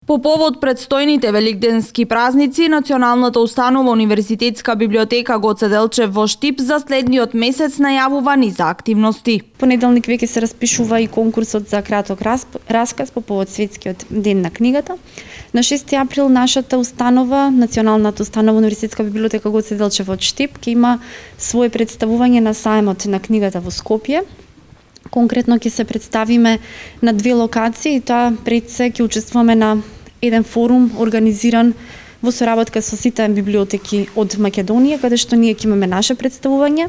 По повод предстојните великденски празници, Националната установа Универзитетска библиотека Гоце Делчев во Штип за следниот месец најавува низа активности. Понеделник веќе се распишува и конкурсот за краток расказ по повод Светскиот ден на книгата. На 6 април нашата установа, Националната установа Универзитетска библиотека Гоце Делчев од Штип, ќе има свое представување на сајмот на книгата во Скопје. Конкретно ќе се представиме на 2 локации, тоа пред се ќе учествуваме на еден форум организиран во соработка со сите библиотеки од Македонија, каде што ние ќе имаме наше представување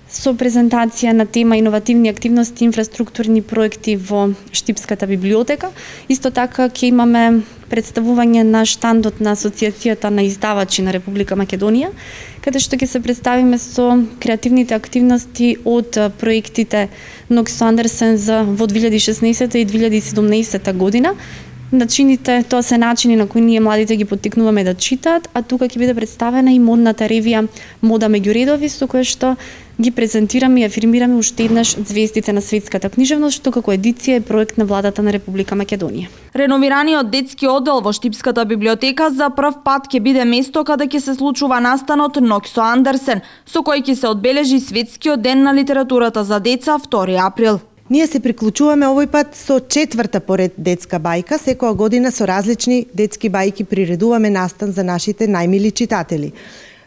со презентација на тема иновативни активности, инфраструктурни проекти во Штипската библиотека. Исто така ќе имаме представување на штандот на Асоциацијата на издавачи на Република Македонија, каде што ќе се представиме со креативните активности од проектите Ноксо Андерсен за во 2016 и 2017 година. Тоа се начини на кои ние младите ги поттикнуваме да читаат, а тука ќе биде представена и модната ревија Мода меѓу редови, со која што ги презентираме и афирмираме уште еднаш звездите на светската книжевност, што како едиција е проект на владата на Република Македонија. Реновираниот детски оддел во Штипската библиотека за прв пат ќе биде место каде ќе се случува настанот Ноксо Андерсен, со кој ќе се одбележи Светскиот ден на литературата за деца 2 април. Ние се приклучуваме овој пат со 4-та поред детска бајка. Секоја година со различни детски бајки приредуваме настан за нашите најмили читатели.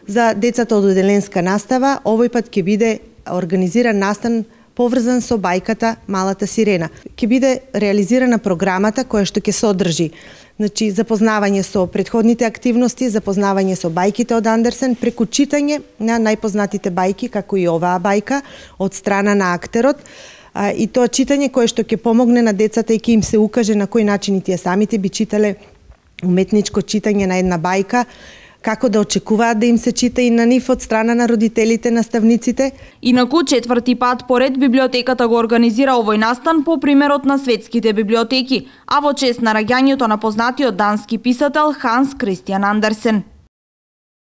За децата од оделенска настава, овој пат ќе биде организиран настан поврзан со бајката Малата сирена. Ќе биде реализирана програмата која што ќе содржи запознавање со претходните активности, запознавање со бајките од Андерсен, преку читање на најпознатите бајки, како и оваа бајка, од страна на актерот, и тоа читање кое што ќе помогне на децата и ќе им се укаже на кој начин и тие самите би читале уметничко читање на една бајка, како да очекуваат да им се чита и на нив од страна на родителите, наставниците. Инаку 4-ти пат поред библиотеката го организира овој настан по примерот на светските библиотеки, а во чест на раѓањето на познатиот дански писател Ханс Кристиан Андерсен.